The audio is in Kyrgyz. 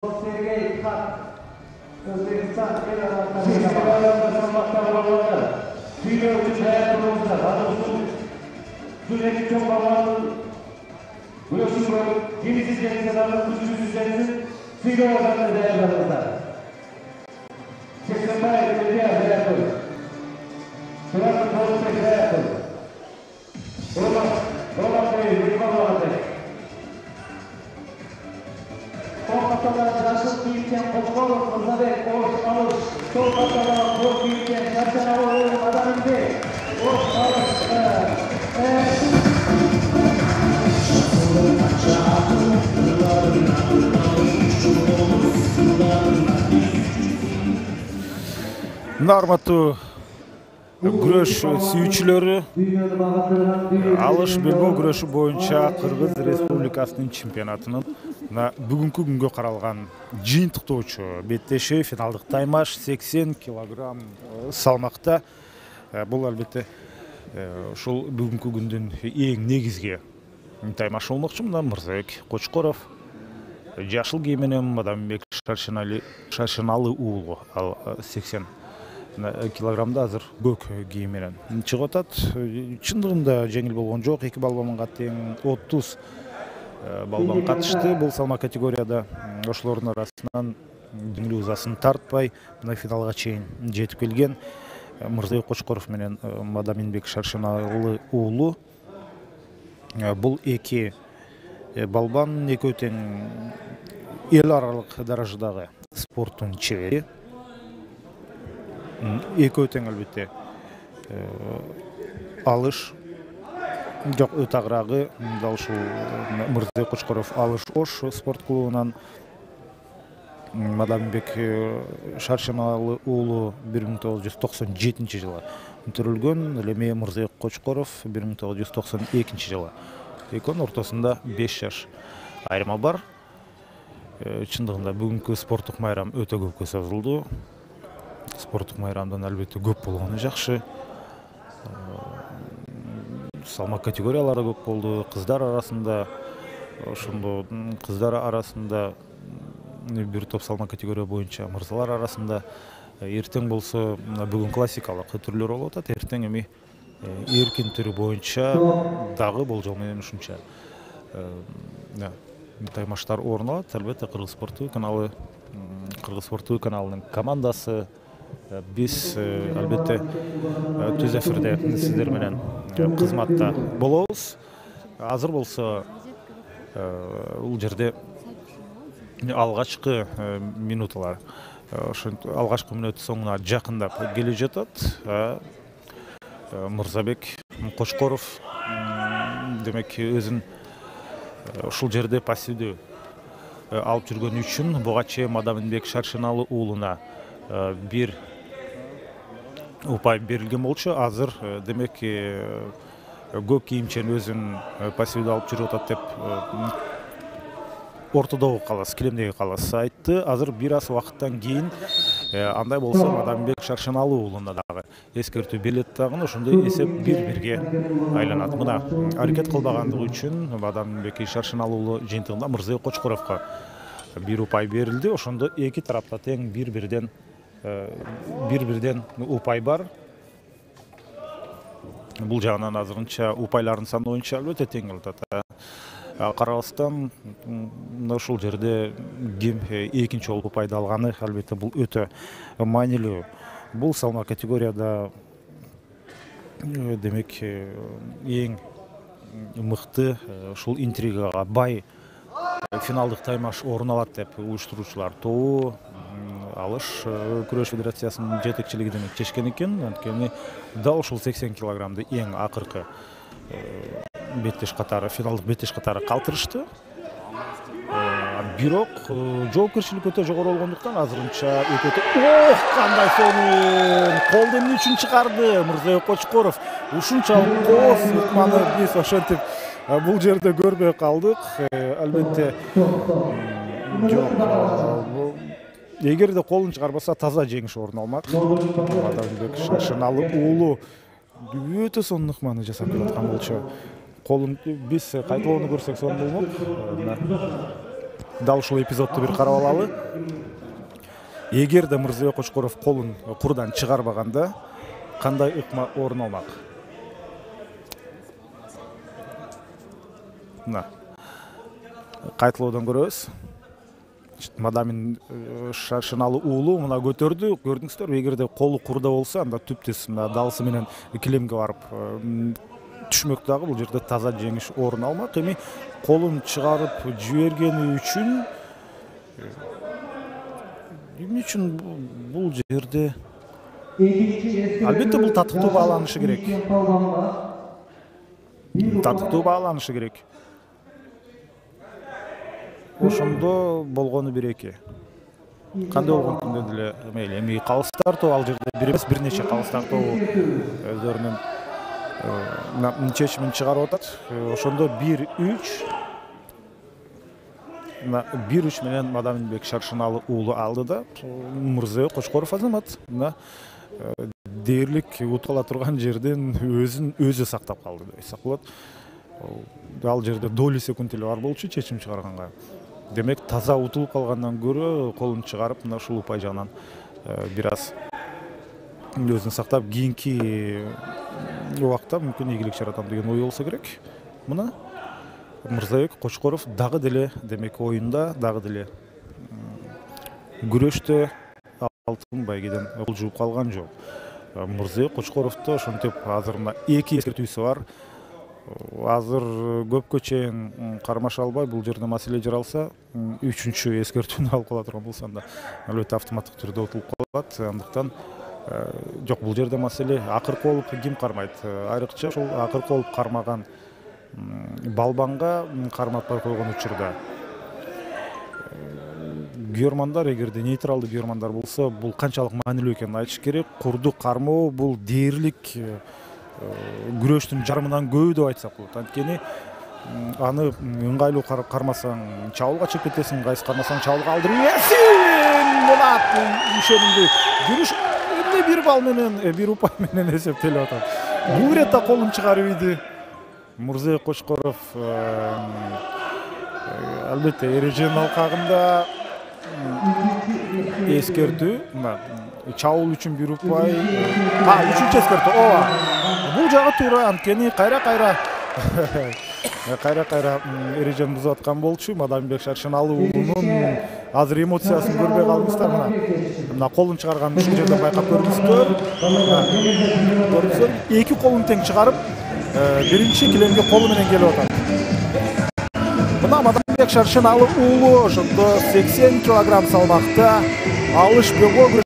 Sergey Kak, Özbekistan salmakta Tüyler için hayatımızda adımızın sürekli çok bağlı Güneşin gemisiz gençlerinin güçsüz gençlerin Tüyler olanı değerlerimizde 80 bayi belediye hayatı Sırası politik hayatı Roman Bey, Rıkman Bey Kolkata'da Raşıl Büyükken Koçkolov, Mırzabek, Oğuz, Alış, Kolkata'da Koç Büyükken, Şarşanalı, Adaminde, Oğuz, Alış, Нармату күрөш сүйүүчүлөрү алыш белбөө күрөшү боюнча Кыргыз Республикасынын чемпионатынын бүгүнкү күнгө каралган жыйынтыктоочу беттеши финалдык таймаш 80 килограмм салмакта. Бул албетте ушул бүгүнкү күндүн эң негизги таймашы болмокчу. Мына Мырзабек Кочкоров жашыл кийим менен Мадамбек Шаршыналы уулу ал 80 килограммда азыр көк кийим менен чыгып атат. Чындыгында жеңил болгон жок. Эки балбанга тең 30 балбан катышты бул салмак категорияда. Ошолордун арасынан жеңил узасын тартпай мына финалга чейин жетип келген Мырзабек Кочкоров менен Мадамбек Шаршыналы уулу. Бул эки балбан экөө тең эл аралык даражадагы спорттун чебери. Экөө тең албетте алыш жок өтө агырагы дал ушул Мырзабек Кочкоров алыш ош спорт клубунан Мадамбек Шаршыналы уулу 1997-жылы өтөрүлгөн. Ал эми Мырзабек Кочкоров 1992 жылы. Экөөнүн ортосунда 5 жаш айырма бар. Чындыгында бүгүнкү спорттук майрам өтө көпкө созулду. Спорттук майрамдан албетте көп болгону жакшы. Салмак категориялары көп болду. Кыздар арасында ошондо кыздар арасында бир топ салмак категория боюнча мырзалар арасында эртең болсо бүгүн классикалык түрлөр болуп атат. Эртең эми эркин түрү боюнча дагы болжол менен ушунча таймаштар орун алат. Албетте Кыргыз спорттуу каналынын командасы биз албетте түз эфирде сиздер менен кызматта болобуз. Азыр болсо бул жерде алгачкы минуталар алгачкы мүнөт соңуна жакындап келе жатат. Мырзабек Кочкоров демек өзүн ушул жерде пассивдүү алып жүргөн үчүн буга чейин Мадамбек Шаршыналы уулуна бир упай берилген болчу. Азыр демек көк кийимчен өзүн пассивдүү алып жүрүп атат деп ортодогу калас, килемдеги калас айтты. Азыр бир аз убакыттан кийин андай болсо Мадамбек Шаршыналы уулуна дагы эскертүү берилет дагы. Ошондой эсеп 1-1 айланат. Мына аракет кылбагандыгы үчүн Мадамбек Шаршыналы уулу жыйынтыгында Мырзабек Кочкоровго бир упай берилди. Ошондо эки тарапта тең 1-1 упай бар. Бул жагынан азырынча упайлардын саны боюнча албетте тең болуп атат. Карабастан ушул жерде ким экинчи болуп упайды алганы албетте бул өтө маанилүү. Бул салмак категорияда демек эң мыкты ушул интригага бай финалдык таймаш орун алат деп уюштуруучулар тобу алыш күрөш федерациясынын жетекчилиги демек чечкен экен. Анткени дал ушул 80 килограммды эң акыркы беттеш катары, финалдык беттеш катары калтырышты. Бирок жоопкерчилик өтө жогору болгондуктан азырынча кандай сонун колду эмне үчүн чыгарды Мырзабек Кочкоров. Ушунчалык кооз ыкманы биз ошентип бул жерде көрбөй калдык. Албетте жок. Эгерде колун чыгарбаса таза жеңиш орун алмак. Мадамбек Шаршыналы уулу өтө сонун ыкманы жасап келаткан болчу. Колун биз кайталоону көрсөк сонун болмок. Дал ушул эпизодду бир карап алалы. Эгерде Мырзабек Кочкоров колун курдан чыгарбаганда кандай ыкма орун алмак? Мына кайталоодон көрөбүз. Мадамин Шаршыналуу уулу мына көтөрдү. Көрдүңүздөрбү? Эгерде колу курда болсо, анда түптес мына далысы менен килемге барып түшмөк дагы бул жерде таза жеңиш орун алмак. Эми колун чыгарып жибергени үчүн эмне үчүн бул жерде албетте бул татыктуу бааланышы керек. Татыктуу бааланышы керек. Ошондо болгону бир-эки. Кандай болгон күндө деле мейли эми калыс тартуу ал жерде бир эмес бир нече калыс тартуу өздөрүнүн чечимин чыгарып атат. Ошондо 1-3 менен Мадаминбек Шаршыналуу уулу алды да Мырзабек Кочкоров азамат мына дээрлик утула турган жерден өзү сактап калды деп айтсак болот. Ал жерде доли секунд эле бар болчу чечим чыгарганга. Демек таза утулуп калгандан көрө колун чыгарып мына ушул упай жагынан бир аз өзүн сактап кийинки убакта мүмкүн ийгилик жаратам деген ой болсо керек. Мына Мырзабек Кочкоров дагы деле демек оюнда дагы деле күрөштө алтын байгеден кол жууп калган жок. Мырзабек Кочкоровдо ошентип азыр мына 2 эскертүүсү бар. Азыр көпкө чейин кармаша албай бул жерде маселе жаралса, 3-чү эскертүүнү алып кала турган болсо анда албетте автоматтык түрдө утулуп калат. Андыктан жок, бул жерде маселе акыркы болуп ким кармайт? Айрыкча ошол акыркы болуп кармаган балбанга карматпай койгон учурда күйөрмандар, эгерде нейтралдуу күйөрмандар болсо, бул канчалык маанилүү экенин айтыш керек. Курду кармоо бул дээрлик күрөштүн жарымынан көбү деп айтсак болот. Анткени аны ыңгайлуу кармасаң чабуулга чыгып кетесиң, кайсы кармасаң чабуулга алдырып ийесиң. Мына ишенимдүү жүрүш эмне бир балл менен, бир упай менен эсептелип атат. Бул иретте колун чыгарып ийди. Мырзабек Кочкоров албетте эреженин алкагында эскертүү, чабуул үчүн бир упай, 3-чү эскертүү. Ооба. Бул жагы туура, анткени кайра эрежени бузуп аткан болчу. Мадаминбек Шаршыналуу уулунун азыр эмоциясын көрбөй калдыңыздар. Мына колун чыгарганын ушул жерден байкап көрдүңүздөр. Көрдүңүздөр, 2 колун тең чыгарып, биринчи килемге колу менен келип атат. Мына Мадаминбек Шаршыналуу уулу ошондо 80 кг салмакта алышпего